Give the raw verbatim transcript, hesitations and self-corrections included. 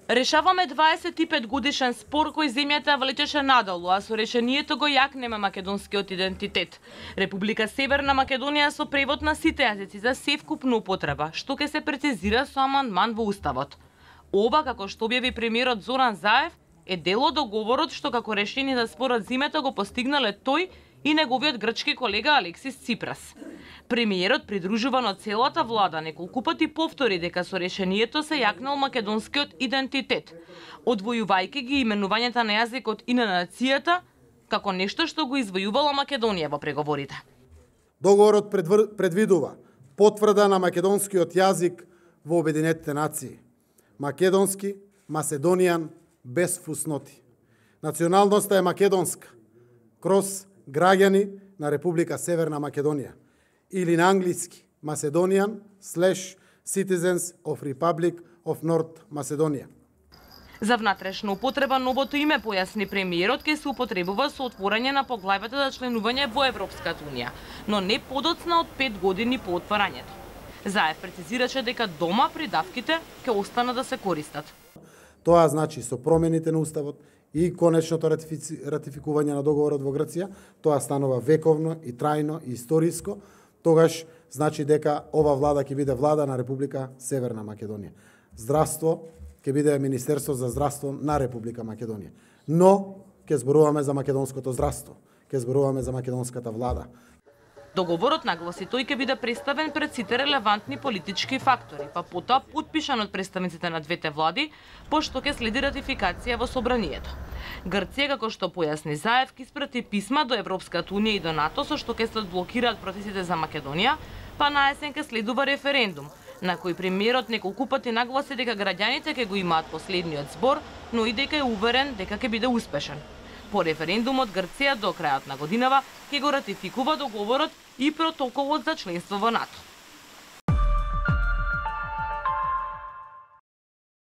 Решаваме дваесет и пет годишен спор кој земјата влечеше надолу, а со решението го јакнеме македонскиот идентитет. Република Северна Македонија со превод на сите јазици за севкупна употреба, што ќе се прецизира со амандман во Уставот. Ова, како што објави премиерот Зоран Заев, е дел од договорот што како решение за спорот зимата го постигнале тој и неговиот грчки колега Алексис Ципрас. Премиерот, придружуван од целата влада, неколку пати повтори дека со решението се јакнал македонскиот идентитет, одвојувајќи ги именувањата на јазикот и на нацијата како нешто што го извојувала Македонија во преговорите. Договорот предвидува потврда на македонскиот јазик во Обединетите нации. Македонски, Macedonian, без фусноти. Националноста е македонска, кроз граѓани на Република Северна Македонија, или на англиски Macedonian slash citizens of Republic of North Macedonia. За внатрешна употреба новото име, појасни премиерот, ќе се употребува со отворање на поглавјата за членување во Европската унија, но не подоцна од пет години по отварањето. Заев прецизираше дека дома придавките ќе останат да се користат. Тоа значи со промените на Уставот и конечното ратифици... ратификување на договорот во Грција, тоа станува вековно и трајно и историско, тогаш значи дека ова влада ќе биде влада на Република Северна Македонија. Здравство ќе биде Министерство за здравство на Република Македонија. Но ќе зборуваме за македонското здравство, ќе зборуваме за македонската влада. Договорот, нагласи тој, ќе биде представен пред сите релевантни политички фактори, па потоа потпишан од представниците на двете влади, пошто ќе следи ратификација во собранието. Грција, како што појасни Заев, ќе испрати писма до Европската унија и до НАТО со што ќе се одблокираат процесите за Македонија, па на есен ќе следува референдум, на кој премиерот неколку пати нагласи дека граѓаните ќе го имаат последниот збор, но и дека е уверен дека ќе биде успешен. По референдумот Грција до крајот на годинава ќе го ратификува договорот и протоколот за членство во НАТО.